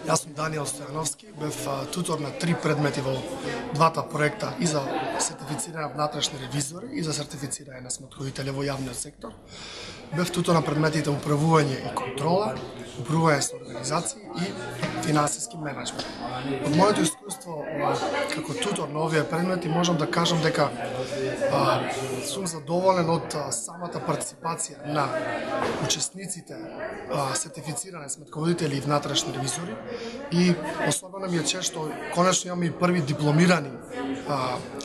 Јас сум Даниел Стојановски, бев тутор на 3 предмети во двата проекта и за сертифицирање внатрешни ревизори и за сертифицирање на сметковители во јавниот сектор. Бев тутор на предметите управување и контрола, управување со организации и финансиски менеджмент. Од моето искуство како тутор на овие предмети можам да кажам дека сум задоволен од самата партиципација на учесниците сертифицирани сметководители и внатрешни ревизори и особено ми е чест што конечно имаме и први дипломирани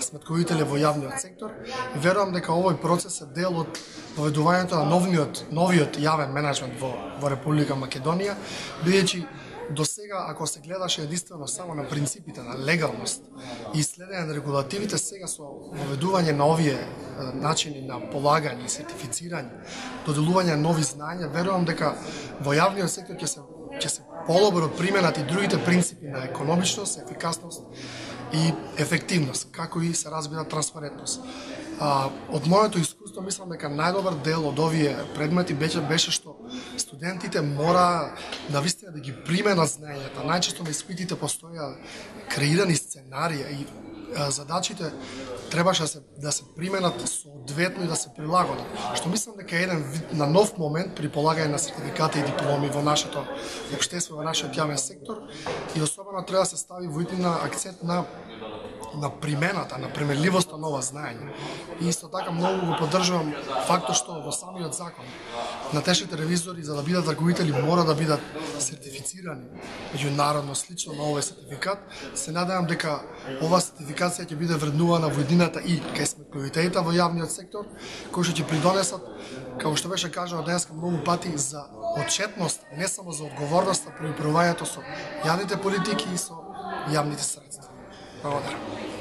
сметковители во јавниот сектор и верувам дека овој процес е дел од поведувањето на новиот јавен менеджмент во Република Македонија, бидејќи до сега, ако се гледаше единствено само на принципите на легалност и следење на регулативите, сега со воведување на овие начини на полагање и сертифицирање, доделување на нови знања, верувам дека во јавниот сектор ќе се подобро применат и другите принципи на економичност, ефикасност и ефективност, како и се разбира транспарентност. Од моето искуство мислам дека најдобар дел од овие предмети беше што студентите мора навистина да ги применат знаењата. Најчесто на испитите постоја креирани сценарија и задачите требаше да се применат соодветно и да се прилагодат. Што мислам дека е еден вид на нов момент при полагање на сертификати и дипломи во нашето општество, во нашиот јавен сектор и особено треба да се стави во иднина акцент на примената, на применливоста на ова знаење. И исто така многу го поддржувам фактот што во самиот закон натешните ревизори за да бидат раководители мора да бидат сертифицирани меѓународно слично на овој сертификат. Се надевам дека ова сертификација ќе биде вреднувана во иднината и кај сметковителите во јавниот сектор, кои што ќе придонесат, како што беше кажано денеска многу пати, за отчетност, не само за одговорноста при управувањето со јавните политики и со јавните средства. Благодарам.